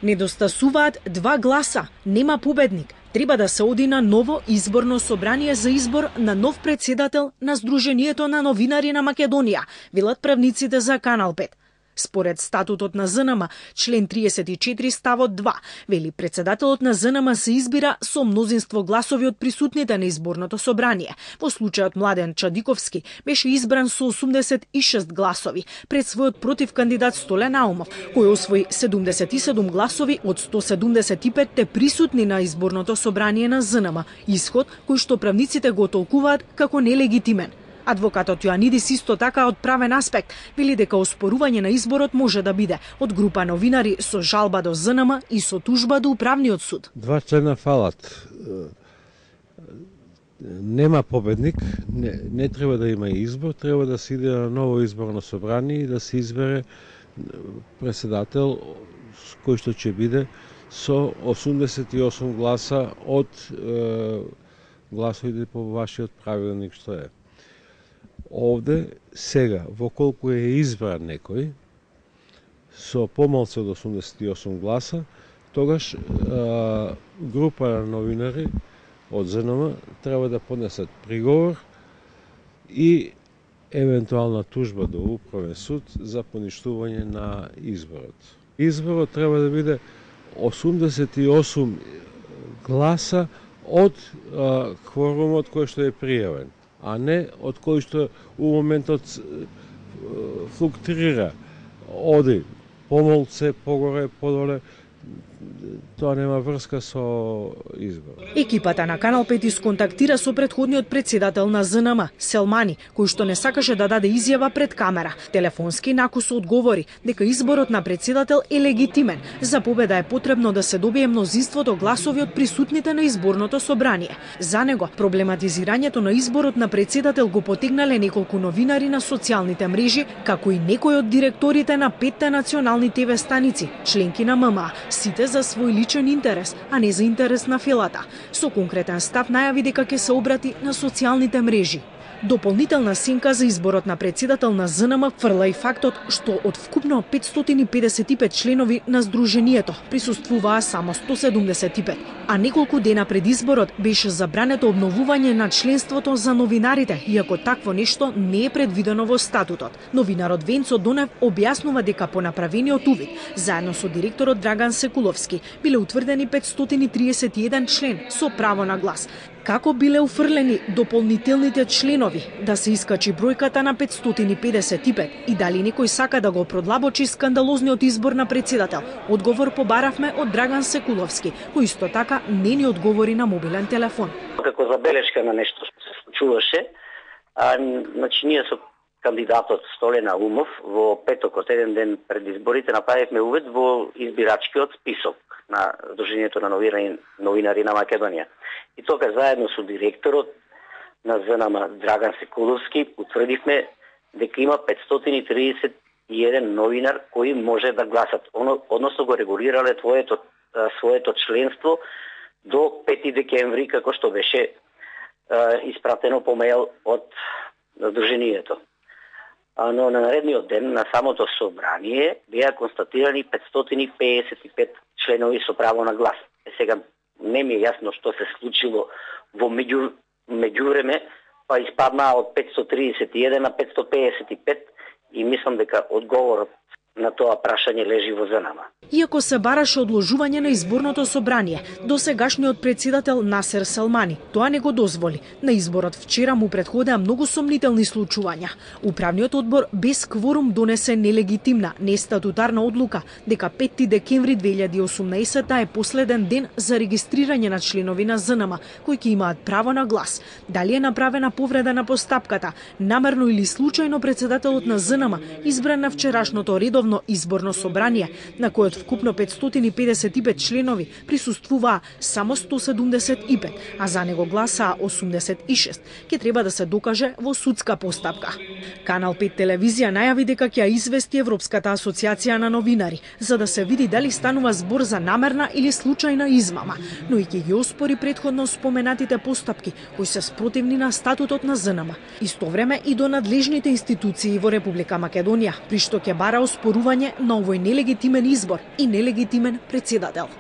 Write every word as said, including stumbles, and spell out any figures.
Недостасуваат два гласа, нема победник. Треба да се оди на ново изборно собрание за избор на нов председател на Сдруженијето на новинари на Македонија, велат правниците за Канал пет. Според статутот на ЗНМ, член триесет и четири ставот два, вели председателот на ЗНМ се избира со мнозинство гласови од присутните на изборното собрание. Во случајот Младен Чадиковски беше избран со осумдесет и шест гласови пред својот против кандидат Столе Наумов, кој освои седумдесет и седум гласови од сто седумдесет и пет присутни на изборното собрание на ЗНМ, исход кој што правниците го толкуваат како нелегитимен. Адвокатот Јоанидис исто така од правен аспект вели дека оспорување на изборот може да биде од група новинари со жалба до ЗНМ и со тужба до управниот суд. Два члена фалат. Нема победник, не, не треба да има избор, треба да се иде на ново изборно собрание и да се избере председател кој што ќе биде со осумдесет и осум гласа од е, гласовите по вашиот правилник што е. Овде, сега, во колку е избран некој, со помалку од осумдесет и осум гласа, тогаш а, група новинари од ЗНМ треба да поднесат приговор и евентуална тужба до управен суд за поништување на изборот. Изборот треба да биде осумдесет и осум гласа од а, кворумот кој што е пријавен, а не од кој што у моментот флуктуира, оди помалце, погоре, подоле, тоа нема врска со избор. Екипата на Канал пет исконтактира со претходниот председател на ЗНМ, Селмани, кој што не сакаше да даде изјава пред камера. Телефонски накусо одговори дека изборот на председател е легитимен. За победа е потребно да се добие мнозинството гласови од присутните на изборното собрание. За него, проблематизирањето на изборот на председател го потегнале неколку новинари на социјалните мрежи, како и некои од директорите на петте национални ТВ станици, членки на ММА, сите за свој личен интерес, а не за интерес на филата. Со конкретен став најави дека ќе се обрати на социјалните мрежи. Дополнителна сенка за изборот на председател на ЗНМ фрла и фактот што од вкупно петстотини педесет и пет членови на Сдруженијето присуствуваа само сто седумдесет и пет, а неколку дена пред изборот беше забрането обновување на членството за новинарите, иако такво нешто не е предвидено во статутот. Новинарот Венцо Донев објаснува дека по направениот увид, заедно со директорот Драган Секуловски, биле утврдени петстотини триесет и еден член со право на глас. Како биле уфрлени дополнителните членови, да се искачи бројката на петстотини педесет и пет и дали некој сака да го продлабочи скандалозниот избор на председател? Одговор побаравме од Драган Секуловски, кој исто така не ни одговори на мобилен телефон. Како забелешка на нешто што се случуваше, а, значи ние со кандидатот Столе Наумов во петокот, еден ден пред изборите, направивме увид во избирачкиот список на Сдруженијето на новинари, новинари на Македонија. И тока заедно со директорот на ЗНМ Драган Секуловски утврдивме дека има петстотини триесет и еден новинар кои може да гласат, односно го регулирале твоето, своето членство до пети декември, како што беше е, испратено по мејл од Сдруженијето. Но на наредниот ден на самото собрание беа констатирани петстотини педесет и пет членови со право на глас. Е, сега не ми е јасно што се случило во меѓу меѓувреме, па испаднаа од петстотини триесет и еден на петстотини педесет и пет и мислам дека одговорот на тоа прашање лежи во ЗНМ. Иако се бараше одложување на изборното собрание, досегашниот председател Насер Селмани тоа не го дозволи. На изборот вчера му претходеа многу сомнителни случувања. Управниот одбор без кворум донесе нелегитимна, нестатутарна одлука дека пети декември две илјади и осумнаесета е последен ден за регистрирање на членови на ЗНМ кои ќе имаат право на глас. Дали е направена повреда на постапката, намерно или случајно председателот на ЗНМ избран на вчерашното редовно изборно собрание, на којот вкупно петстотини педесет и пет членови присуствуваа само сто седумдесет и пет, а за него гласаа осумдесет и шест, ќе треба да се докаже во судска постапка. Канал пет телевизија најави дека ќе ја извести Европската асоциација на новинари, за да се види дали станува збор за намерна или случајна измама, но и ќе ги оспори претходно споменатите постапки кои се спротивни на статутот на ЗНМ. Исто време и до надлежните институции во Република Македонија, при што ќе бара оспорување оспорување на овој нелегитимен избор и нелегитимен претседател.